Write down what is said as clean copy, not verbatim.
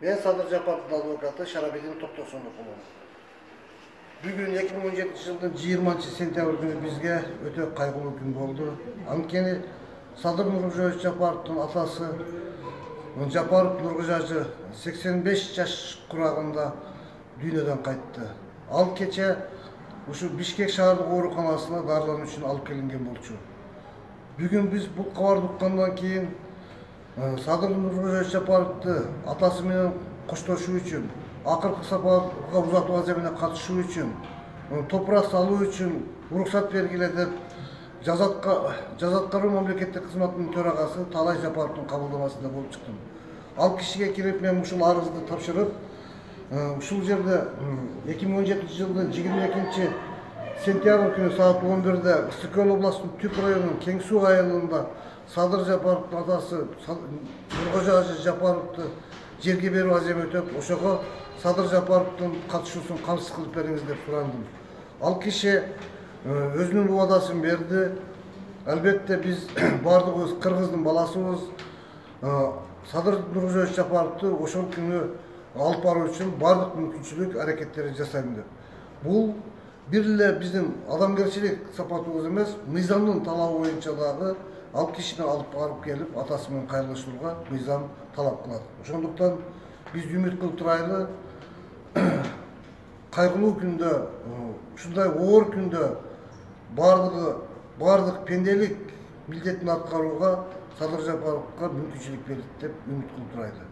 Мен Садыр Жапаровдун адвокаты Шарабедин Токтосунов. Бүгүн 2017 жылдын 20 сентябрь күнү бизге өтө кайгылуу күн болду. Анткени Садыр Нуркожоевич Жапаровдун атасы Жапаров Нуркожажы 85 жаш курагында дүйнөдөн кайтты. Ал кече ушу Бишкек шаардык ооруканасына дарылануу үчүн алып келинген болчу. Бүгүн биз бул кабарды уккандан кийин Садыр Нуркожоевич Жапаровду атасы менен коштошуу үчүн, акыркы сапарга узатуу аземине катышуу үчүн, топурак салуу үчүн уруксат бергиле деп Жаза аткаруу мамлекеттик кызматынын төрагасы Талай Жапаровдун кабылдамасында болуп чыктым. Ал кишиге кирип мен ушул арызды тапшырып, ушул жерде 2017 жылдын 22 сентябрь күнү саат 11-де Ысыкөл областынын Түп районунун Кең Суу айылында Садыр Жапаровдун атасы Нуркожажы Жапаровду жерге берүү аземи өтөп, ошого Садыр Жапаровдун катышуусун камсыз кылып бериңиз деп сурандым. Ал киши өзүнүн убадасын берди. Албетте биз бардыгыбыз кыргыздын баласыбыз. Садыр Нуркожоевич Жапаровду ошол күнү алып баруу үчүн бардык мүмкүнчүлүк аракеттерди жасайм деп. Бул бир эле биздин адамгерчилик сапатыбыз эмес, мыйзамдын талабы боюнча дагы ал кишини алып барып келип атасы менен кайрылышууга мыйзам талап кылат. Ошондуктан биз үмүт кылып турайлы, кайгылуу күндө, ушундай оор күндө бардык пенделик милдетин аткарууга Садыр Жапаровго мүмкүнчүлүк берет деп үмүт кылып турайлы.